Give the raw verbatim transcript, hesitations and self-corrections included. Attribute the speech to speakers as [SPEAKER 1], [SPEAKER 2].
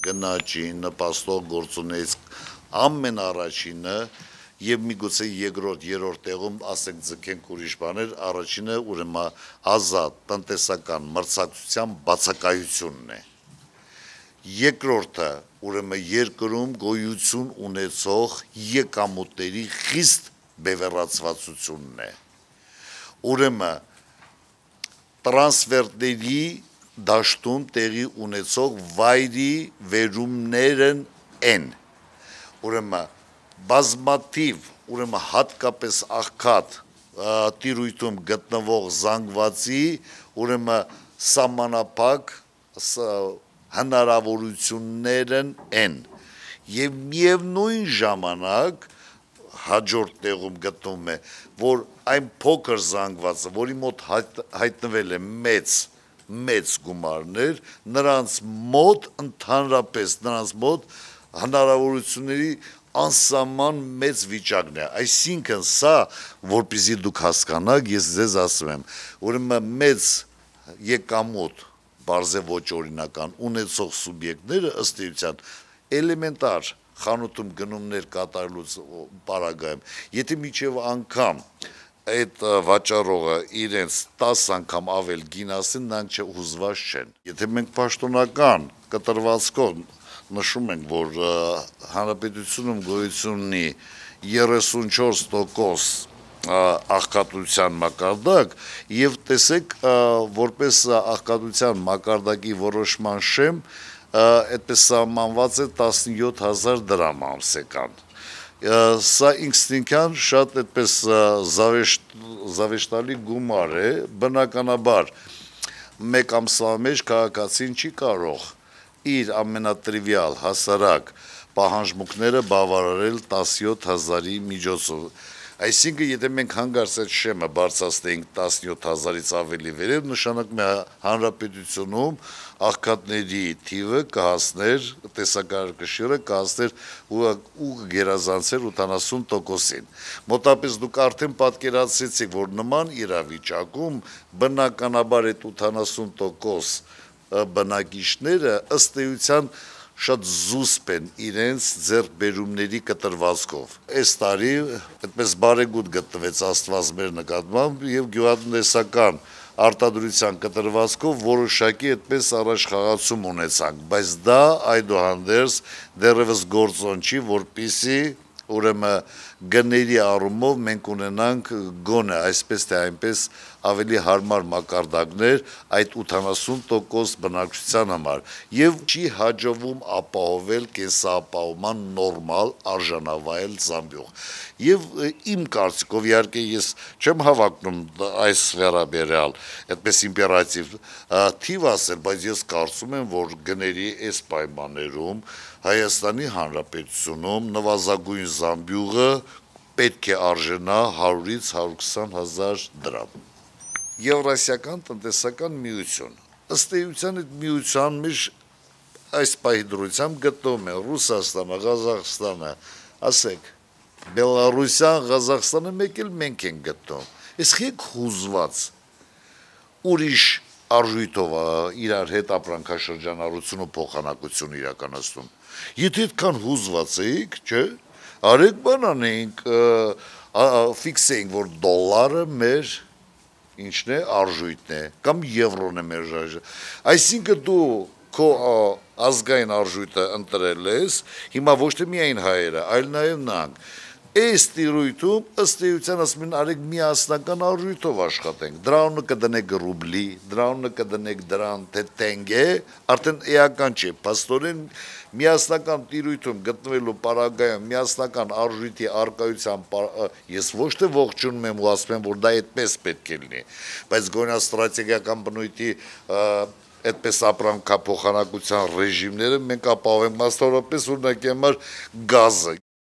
[SPEAKER 1] Գնաճի նպաստող գործունեից ամեն առաջինը եւ միգուցե երկրորդ, երրորդ տեղում ասենք ձգենք ուրիշ բաներ, առաջինը ուրեմն ազատ տնտեսական մրցակցության բացակայությունն է։ Երկրորդը ուրեմն երկրում գոյություն ունեցող եկամուտների խիստ բևեռացվածությունն է։ Ուրեմն տրանսֆերտերի դաշտում տեղի ունեցող վայրի վերումներն են։ Ուրեմն բազմաթիվ, ուրեմն հատկապես աղքատ տիրույթում գտնվող զանգվածի, ուրեմն սահմանափակ հնարավորություններն են եւ միևնույն ժամանակ հաջորդ տեղում գտնվում է, որ այն փոքր զանգվածը, որի մոտ հայտնվել է մեծ մեծ գումարներ, նրանց մոտ ընդհանրապես նրանց մոտ հնարավորությունների անսահման մեծ վիճակն է, այսինքն սա, որպեսզի դուք հասկանաք, ես ձեզ ասում եմ, ուրեմն մեծ եկամուտ, բարձր ոչ օրինական ունեցող սուբյեկտները ըստ էության էլեմենտար խանութում գնումներ կատարելուց պարագայում, եթե մինչև անգամ այդ վաճառողը իրենց տաս անգամ ավել գին ասեն, նրանք հուզված չեն։ Եթե մենք պաշտոնական կտրվածքով նշում ենք, որ հանրապետությունում գոյություն ունի երեսունչորս տոկոս աղքատության մակարդակ եւ տեսեք որպես աղքատության մակարդակի որոշման շեմ այդպես սահմանված է տասնյոթ հազար դրամ ամսական։ Սա ինքնին շատ այդպես զավեշտալի գումար է, բնականաբար մեկ ամսվա մեջ քաղաքացին չի կարող իր ամենատրիվիալ հասարակ պահանջմունքները բավարարել տասնյոթ հազարի միջոցով։ Այսինքն, եթե մենք հանգարց այդ շեմը բարձրացնենք տասնյոթ հազարից ավելի վերև, նշանակում է հանրապետությունում աղքատների թիվը կհասներ, տեսակարգաշիռը կհասներ ու կգերազանցեր ութանասուն տոկոսին։ Մոտապես դուք արդեն պատկերացրեցիք, որ նման իրավիճակում բնականաբար այդ ութանասուն տոկոս բնակիչները ըստ էության շատ զուսպ են իրենց ձեռքբերումների կտրվածքով։ Այս տարի այդպես բարեգութ գտնվեց Աստված մեր նկատմամբ եւ գյուղատնտեսական արտադրության կտրվածքով որոշակի այդպես առաջխաղացում ունեցանք, բայց դա այդուհանդերձ դեռևս գործոն չի, որպեսզի ուրեմն գների առումով մենք ունենանք գոնե այսպես թե այնպես ավելի հարմար մակարդակներ այդ ութանասուն տոկոս բնակչության համար եւ չի հաջողվում ապահովել կենսապահովման նորմալ արժանավայել զամբյուղ։ Եվ իմ կարծիքով իհարկե ես չեմ հավակնում այս վերաբերյալ այդպես իմպերատիվ թիվ ասել, բայց ես կարծում եմ, որ գների այս պայմաններում Հայաստանի Հանրապետությունում նվազագույն զամբյուղը պետք է արժենա հարյուրից հարյուր հազար դրամ։ Եվրասիական տնտեսական միություն, ըստ էության այդ միության մեջ այս պահի դրությամբ գտնվում է Ռուսաստանը, Ղազախստանը, ասեք, Բելառուսյան, Ղազախստանը մեկ էլ մենք ենք գտնում, ես խեք հուզված ուրիշ արժույթով իրար հետ ապրանքաշրջանառություն ու փոխանակություն իրականացնում։ Եթե այդքան հուզված էիք, չէ, արեք բան անենք, ֆիքսեինք, որ դոլարը մեր ինչն է, արժույթն է, կամ եվրոն է մեր արժույթը։ Այսինքն դու քո ազգային արժույթը ընտրել ես, հիմա ոչ թե միայն հայերը, այլ նաև նրանք։ Այս տիրույթում ըստ էության ասում են արեք միասնական արժույթով աշխատենք, դրանը կդնեք ռուբլի, դրանը կդնեք դրան, թե տենգե, արդեն էական չէ, փաստորեն միասնական տիրույթում գտնվելու պարագայում միասնական արժույթի արկայության ես ոչ թե ողջունում եմ ու ասում եմ, որ դա այդպես պետք է լինի, բայց գոնե ստրատեգիական բնույթի այդպես ապրանքափոխանակության ռեժիմները մենք ապահովենք մասնավորապես օրինակի համար գազը։